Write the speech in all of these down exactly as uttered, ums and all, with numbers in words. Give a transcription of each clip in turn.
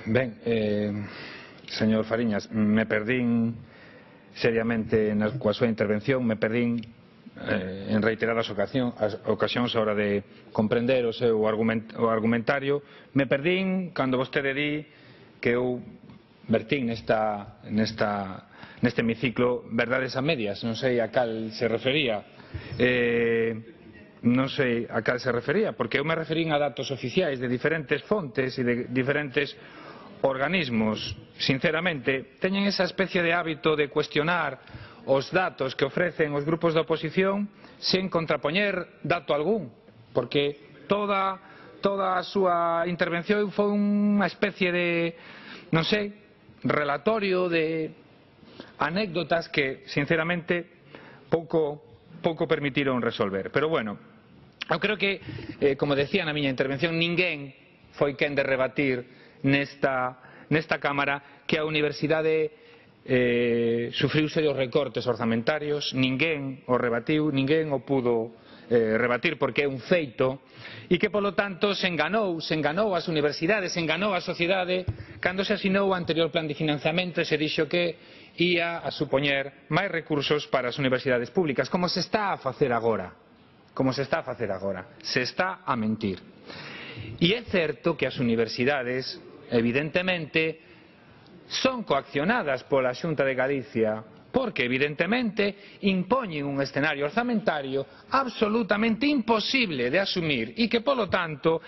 Ben, eh, señor Fariñas, me perdín seriamente na coa súa intervención, me perdín eh, en reiteradas ocasión, as ocasións a hora de comprender o seu argument, o argumentario. Me perdín cando vostede di que eu vertín nesta, nesta, neste hemiciclo verdades a medias, non sei a cal se refería. Eh, non sei a cal se refería, porque eu me referín a datos oficiais de diferentes fontes e de diferentes organismos. Sinceramente, teñen esa especie de hábito de cuestionar os datos que ofrecen os grupos da oposición sen contrapoñer dato algún, porque toda, toda a súa intervención foi unha especie de, non sei, relatorio de anécdotas que, sinceramente, pouco, pouco permitiron resolver. Pero, bueno, eu creo que, eh, como decía na miña intervención, ninguén foi quen de rebatir nesta, nesta Cámara que a Universidade eh, sufriu serios recortes orzamentarios. Ninguén o rebatiu, ninguén o pudo eh, rebatir porque é un feito, e que polo tanto se enganou, se enganou as universidades, se enganou a sociedade cando se asinou o anterior plan de financiamento e se dixo que ia a supoñer máis recursos para as universidades públicas, como se está a facer agora, como se está a facer agora, se está a mentir. E é certo que as universidades, evidentemente, son coaccionadas pola Xunta de Galicia, porque evidentemente impoñen un escenario orzamentario absolutamente imposible de asumir e que, polo tanto,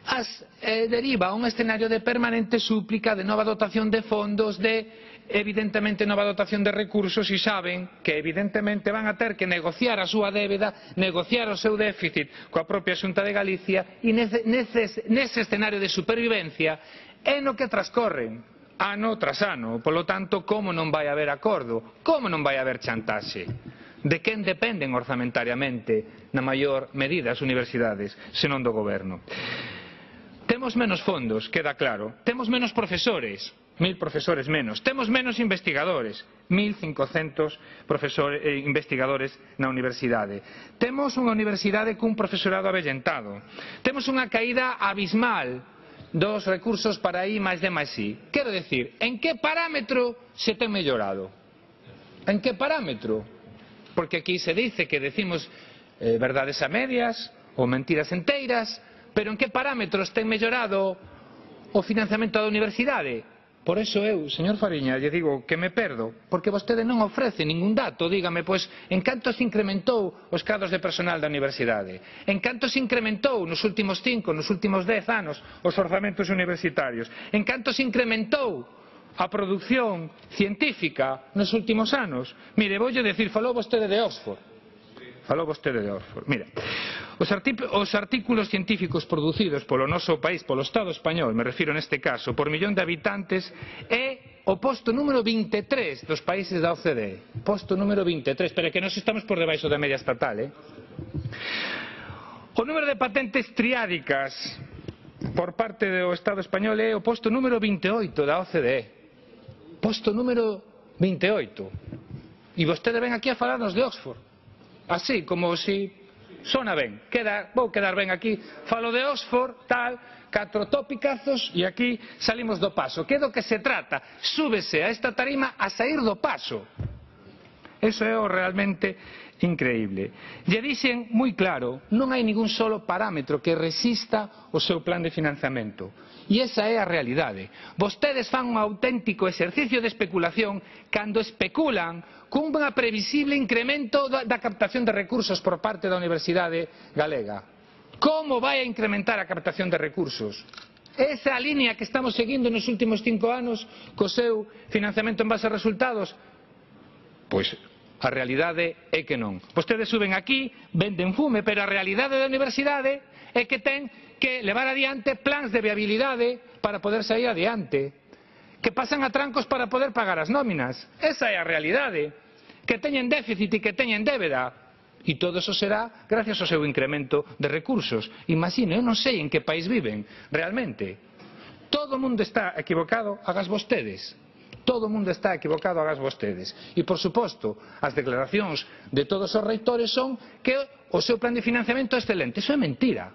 as, eh, deriva a un escenario de permanente súplica de nova dotación de fondos, de evidentemente nova dotación de recursos, e saben que evidentemente van a ter que negociar a súa débeda, negociar o seu déficit coa propia Xunta de Galicia, e nese, nese, nese escenario de supervivencia é no que transcorren ano tras ano. Polo tanto, como non vai haber acordo? Como non vai haber chantaxe? De quen dependen orzamentariamente na maior medida as universidades, senón do goberno? Temos menos fondos, queda claro. Temos menos profesores, mil profesores menos. Temos menos investigadores, mil cincocentos profesores, eh, investigadores na universidade. Temos unha universidade cun profesorado avellentado. Temos unha caída abismal dos recursos para I máis D máis I. Quero decir, en que parámetro se ten mellorado? En que parámetro? Porque aquí se dice que decimos eh, verdades a medias ou mentiras enteiras, pero en que parámetros ten mellorado o financiamento da universidade? Por eso eu, señor Fariña, lle digo que me perdo, porque vostede non ofrece ningún dato. Dígame, pois, en canto se incrementou os cadros de personal da universidade? En canto se incrementou nos últimos cinco, nos últimos dez anos os orzamentos universitarios? En canto se incrementou a produción científica nos últimos anos? Mire, voulle decir, falou vostede de Oxford. Falou vostede de Oxford. Mira, os, os artículos científicos producidos polo noso país, polo Estado español, me refiro neste caso, por millón de habitantes, é o posto número vinte e tres dos países da O C D E. Posto número vinte e tres, pero é que nos estamos por debaixo da media estatal, eh? O número de patentes triádicas por parte do Estado español é o posto número vinte e oito da O C D E. Posto número vinte e oito. E vostede ven aquí a falarnos de Oxford. Así, como si sona ben, queda, vou quedar ben aquí, falo de Oxford, tal, catro topicazos e aquí salimos do paso. Que é do que se trata? Súbese a esta tarima a sair do paso. Eso é o realmente increíble. Lle dixen moi claro, non hai ningún solo parámetro que resista o seu plan de financiamento. E esa é a realidade. Vostedes fan un auténtico exercicio de especulación cando especulan cun previsible incremento da captación de recursos por parte da Universidade Galega. Como vai a incrementar a captación de recursos? Esa línea que estamos seguindo nos últimos cinco anos co seu financiamento en base a resultados? Pois a realidade é que non. Vostedes suben aquí, venden fume, pero a realidade da universidade é que ten que levar adiante plans de viabilidade para poder sair adiante, que pasan a trancos para poder pagar as nóminas. Esa é a realidade. Que teñen déficit e que teñen débeda. E todo eso será gracias ao seu incremento de recursos. Imagino, eu non sei en que país viven, realmente. Todo o mundo está equivocado, hagas vostedes. Todo o mundo está equivocado, hagas vostedes. E, por suposto, as declaracións de todos os reitores son que o seu plan de financiamento é excelente. Eso é mentira.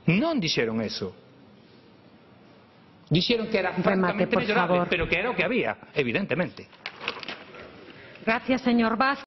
Non dixeron eso. Dixeron que era francamente por mellorable, favor. pero que era o que había, evidentemente. Gracias, señor Vázquez.